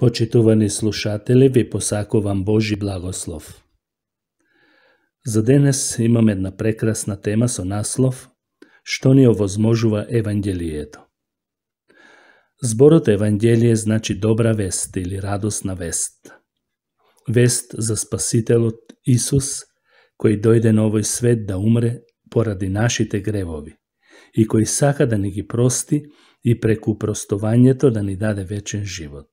Почитувани слушатели, ви посакувам Божи благослов. За денес имам една прекрасна тема со наслов «Што ни овозможува Евангелието». Зборот Евангелие значи добра вест или радосна вест. Вест за Спасителот Исус, кој дојде на овој свет да умре поради нашите гревови и кој сака да ни ги прости и преку простувањето да ни даде вечен живот.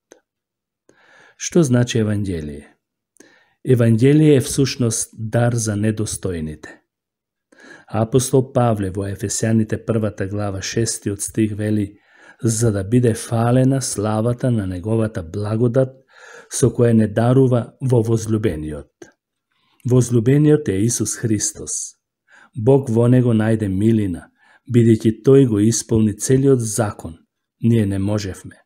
Што значи Евангелие? Евангелие е всушност дар за недостојните. Апостол Павле во Ефесјаните 1 глава 6 стих вели: за да биде фалена славата на неговата благодат со која не дарува во возлюбениот. Возлюбениот е Исус Христос. Бог во него најде милина, бидејќи тој го исполни целиот закон, ние не можевме.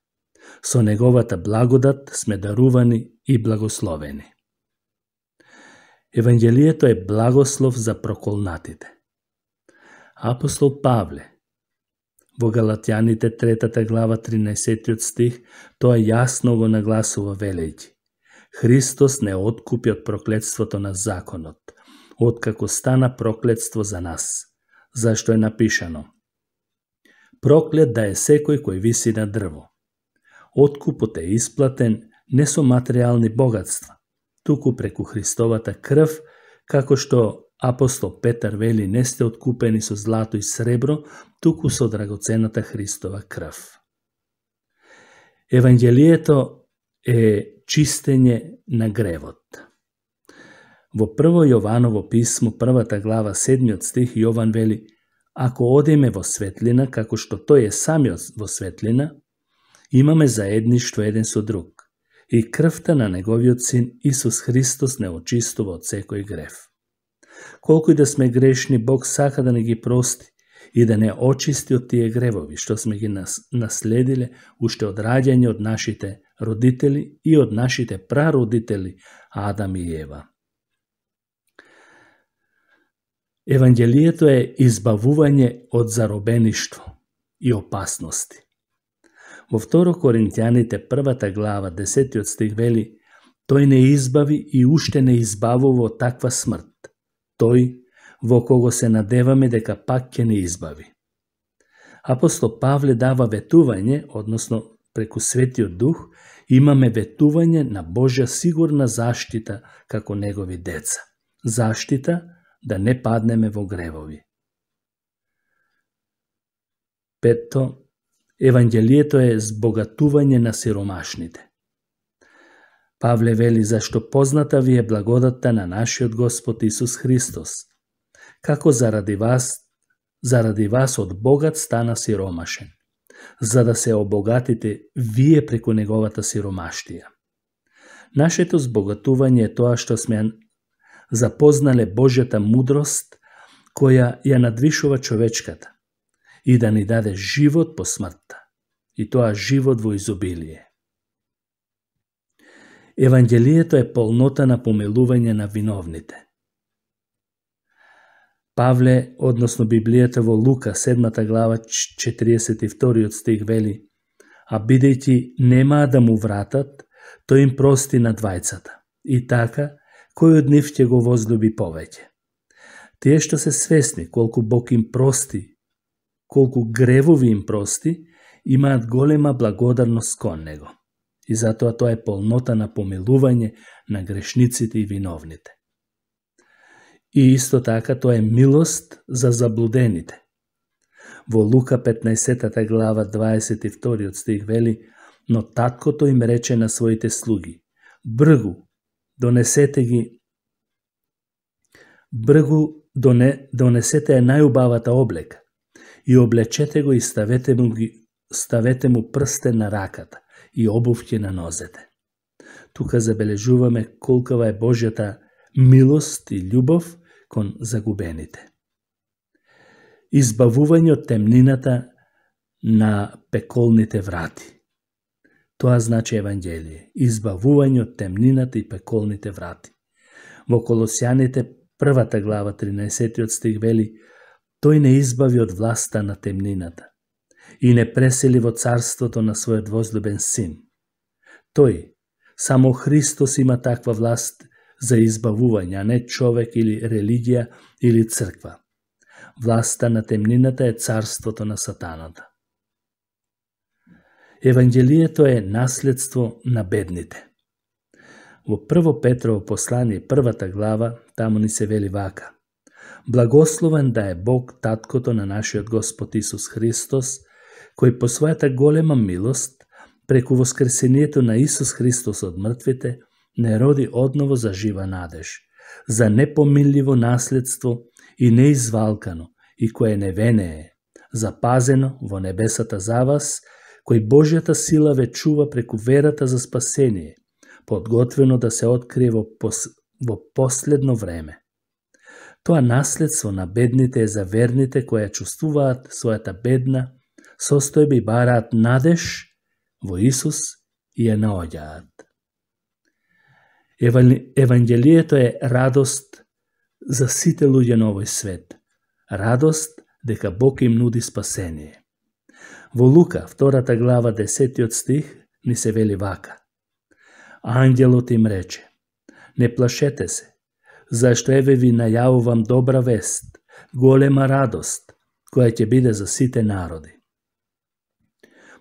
Со неговата благодат сме дарувани и благословени. Евангелието е благослов за проколнатите. Апостол Павле во Галатјаните 3 глава 13 стих тоа јасно го нагласува велејќи: Христос не откупи од проклетството на законот, откако стана проклетство за нас, зашто е напишано: проклет да е секој кој виси на дрво. Откупот е исплатен не со материјални богатства, туку преку Христовата крв, како што апостол Петар вели: не сте откупени со злато и сребро, туку со драгоцената Христова крв. Евангелието е чистење на гревот. Во 1 Јованово писмо, 1 глава 7 стих, Јован вели: ако одиме во светлина, како што тој е самиот во светлина, имаме заедништво еден со друг, и крвта на неговиот син Исус Христос не очистува од секој грев. Колку и да сме грешни, Бог сака да не ги прости и да не очисти од тие гревови, што сме ги наследиле уште од раѓање од нашите родители и од нашите прародители Адам и Ева. Евангелието е избавување од заробеништво и опасности. Во 2 Коринќаните 1 глава 10 стих вели: тој не избави и уште не избавува од таква смрт. Тој во кого се надеваме дека пак ќе не избави. Апостол Павле дава ветување, односно преку Светиот Дух имаме ветување на Божја сигурна заштита како негови деца. Заштита да не паднеме во гревови. Петто, Евангелието е збогатување на сиромашните. Павле вели: зашто позната ви е благодатта на нашиот Господ Исус Христос, како заради вас од богат стана сиромашен, за да се обогатите вие преку неговата сиромаштија. Нашето збогатување е тоа што сме запознале Божјата мудрост, која ја надвишува човечката, и да ни даде живот по смртта, и тоа живот во изобилие. Евангелието е полнота на помилување на виновните. Павле, односно Библијата во Лука 7 глава 42 стих вели: а бидејќи немаа да му вратат, тој им прости на двајцата, и така кој од нив ќе го возлюби повеќе. Тие што се свесни колку Бог им прости, колку гревови им прости, имаат голема благодарност кон него. И затоа тоа е полнота на помилување на грешниците и виновните. И исто така тоа е милост за заблудените. Во Лука 15 глава 22 стих вели: но таткото им рече на своите слуги: бргу, донесете ја најубавата облека и облечете го и ставете му прстен на раката и обувки на нозете. Тука забележуваме колкава е Божјата милост и љубов кон загубените. Избавување од темнината на пеколните врати. Тоа значи Евангелие. Избавување од темнината и пеколните врати. Во Колосјаните 1 глава 13 стих вели: тој не избави од власта на темнината и не пресели во царството на својот возлюбен син. Тој, Само Христос има таква власт за избавување, а не човек или религија или црква. Власта на темнината е царството на сатаната. Евангелието е наследство на бедните. Во 1 Петрово послание, 1 глава, таму ни се вели вака: Благословен да е Бог, таткото на нашиот Господ Исус Христос, кој по својата голема милост, преку воскресението на Исус Христос од мртвите, не роди одново за жива надеж, за непомилливо наследство и неизвалкано, и кое невенее, запазено во небесата за вас, кој Божјата сила ве чува преку верата за спасение, подготвено да се открие во последно време. Тоа наследство на бедните е за верните кои чувствуваат својата бедна состојба и бараат надеж во Исус и ја наоѓаат. Евангелието е радост за сите луѓе на овој свет. Радост дека Бог им нуди спасение. Во Лука, 2 глава, 10 стих, ни се вели вака: Ангелот им рече: Не плашете се, зашто еве ви најавувам добра вест, голема радост, која ќе биде за сите народи.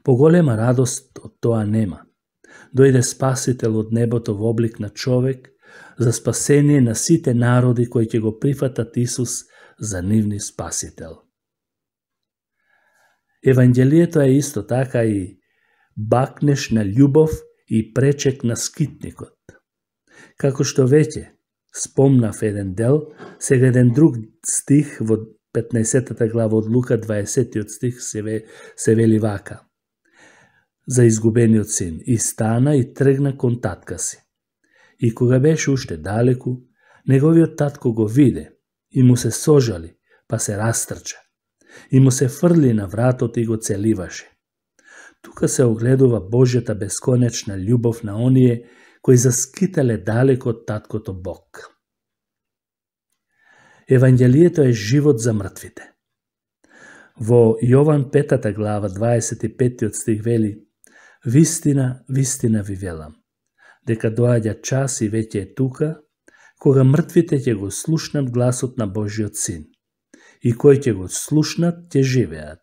Поголема радост од тоа нема. Дојде Спасител од небото во облик на човек за спасение на сите народи кои ќе го прифатат Исус за нивни Спасител. Евангелието е исто така и бакнеш на љубов и пречек на скитникот. Како што веќе спомнав еден дел, сега еден друг стих во 15 глава од Лука, 20 стих се вели вака: За изгубениот син, и стана и тргна кон татка си. И кога беше уште далеку, неговиот татко го виде и му се сожали, па се растрча. И му се фрли на вратот и го целиваше. Тука се огледува Божјата бесконечна љубов на оние кои заскитале далеко од таткото Бог. Евангелието е живот за мртвите. Во Јован 5 глава 25 стих вели: Вистина, вистина ви велам, дека доаѓа час и веќе е тука, кога мртвите ќе го слушнат гласот на Божјиот син. И кои ќе го слушнат, ќе живеат.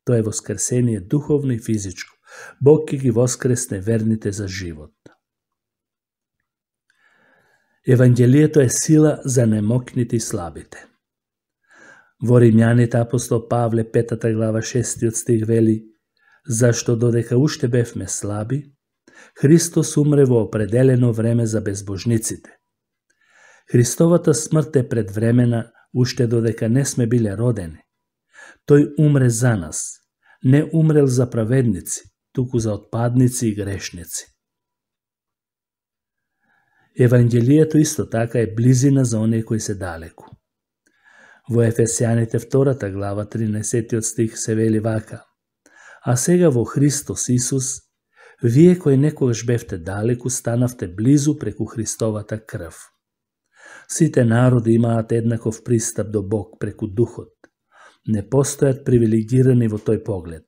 Тоа е воскресение духовно и физичко. Бог ќе ги воскресне верните за живот. Евангелието е сила за немокните и слабите. Во Римјаните апостол Павле 5 глава 6 стих вели: Зашто додека уште бевме слаби, Христос умре во определено време за безбожниците. Христовата смрт е предвремена уште додека не сме биле родени. Тој умре за нас, не умрел за праведници, туку за отпадници и грешници. Евангелието исто така е близина за оние кои се далеку. Во Ефесјаните 2 глава 13 стих се вели вака: А сега во Христос Исус, вие кои некогаш бевте далеку, станавте близу преку Христовата крв. Сите народи имаат еднаков пристап до Бог преку Духот. Не постојат привилегирани во тој поглед.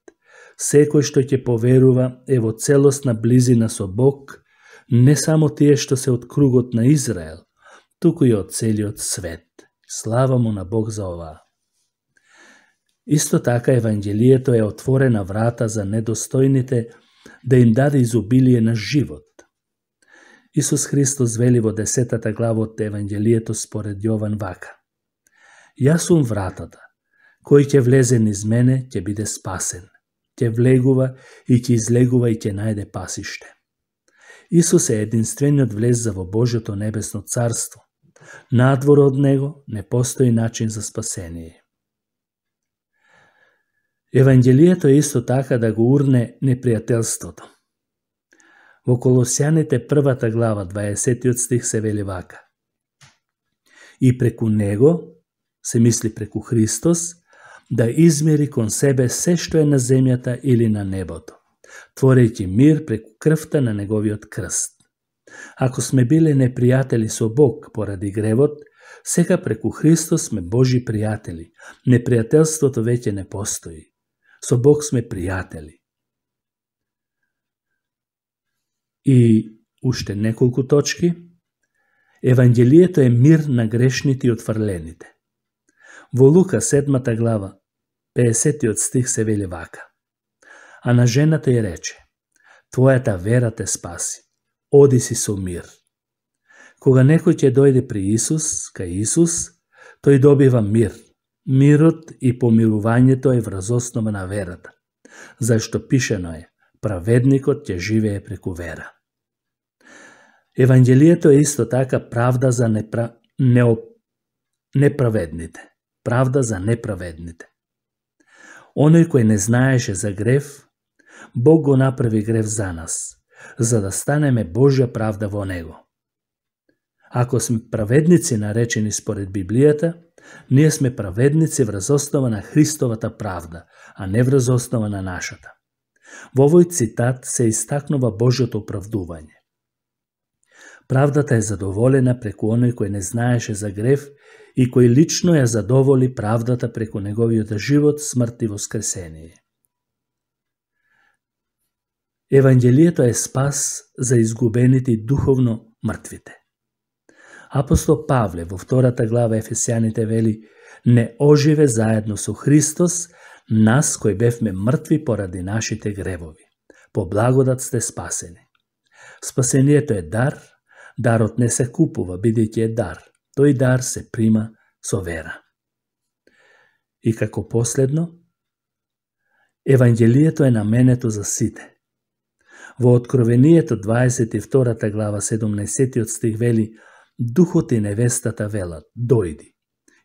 Секој што ќе поверува е во целосна близина со Бог, не само тие што се од кругот на Израел, туку и од целиот свет. Слава му на Бог за ова. Исто така Евангелието е отворена врата за недостојните да им даде изобилие на живот. Исус Христос вели во 10 глава од Евангелието според Јован вака: Јас сум вратата, кој ќе влезе низ мене ќе биде спасен, ќе влегува и ќе излегува и ќе најде пасиште. Исус е единствениот влеза во Божјото небесно царство. Надвор од него не постои начин за спасение. Евангелието е исто така да го урне непријателството. Во Колосјаните 1 глава 20 стих се вели вака: И преку него, се мисли преку Христос, да измери кон себе се што е на земјата или на небото, творејќи мир преку крвта на неговиот крст. Ако сме биле непријатели со Бог поради гревот, сега преку Христос сме Божи пријатели. Непријателството веќе не постои. Со Бог сме пријатели. И уште неколку точки. Евангелието е мир на грешните и отфрлените. Во Лука 7 глава, 50 стих се вели вака. А на жената ѝ рече: твојата вера те спаси, оди си со мир. Кога некој ќе дојде при Исус, кај Исус, тој добива мир. Мирот и помирувањето е врз основа на верата, зашто пишено е: праведникот ќе живее преку вера. Евангелието е исто така правда за неправедните. Правда за неправедните. Оној кој не знаеше за грев, Бог го направи грев за нас, за да станеме Божја правда во него. Ако сме праведници наречени според Библијата, ние сме праведници врз основа на Христовата правда, а не врз основа на нашата. Во овој цитат се истакнува Божјото оправдување. Правдата е задоволена преку оној кој не знаеше за грев и кој лично ја задоволи правдата преку неговиот живот, смрт и воскресение. Евангелието е спас за изгубените и духовно мртвите. Апостол Павле во 2 глава Ефесјаните вели: не оживе заедно со Христос, нас кои бевме мртви поради нашите гревови. По благодат сте спасени. Спасението е дар, дарот не се купува, бидејќи е дар. Тој дар се прима со вера. И како последно, Евангелието е наменето за сите. Во Откровението 22 глава 17 стих вели: духот и невестата велат: дојди.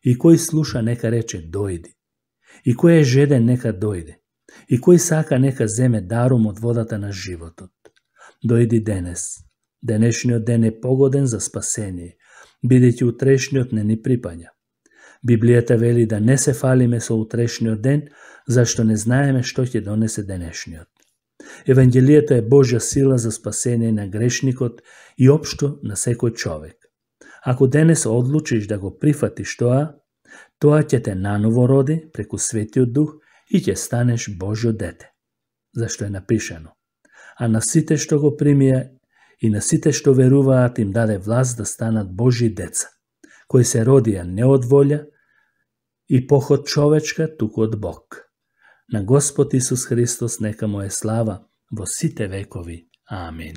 И кој слуша нека рече: дојди. И кој е жеден нека дојде. И кој сака нека земе дарум од водата на животот. Дојди денес. Денешниот ден е погоден за спасение, бидејќи утрешниот не ни припаѓа. Библијата вели да не се фалиме со утрешниот ден, зашто не знаеме што ќе донесе денешниот. Евангелието е Божја сила за спасение на грешникот и општо на секој човек. Ако денес одлучиш да го прифатиш тоа ќе те наново роди преку Светиот Дух и ќе станеш Божјо дете. Зашто е напишано: а на сите што го примија и на сите што веруваат им даде власт да станат Божји деца, кои се родија не од волја и поход човечка, туку од Бог. На Господ Исус Христос нека му е слава во сите векови. Амин.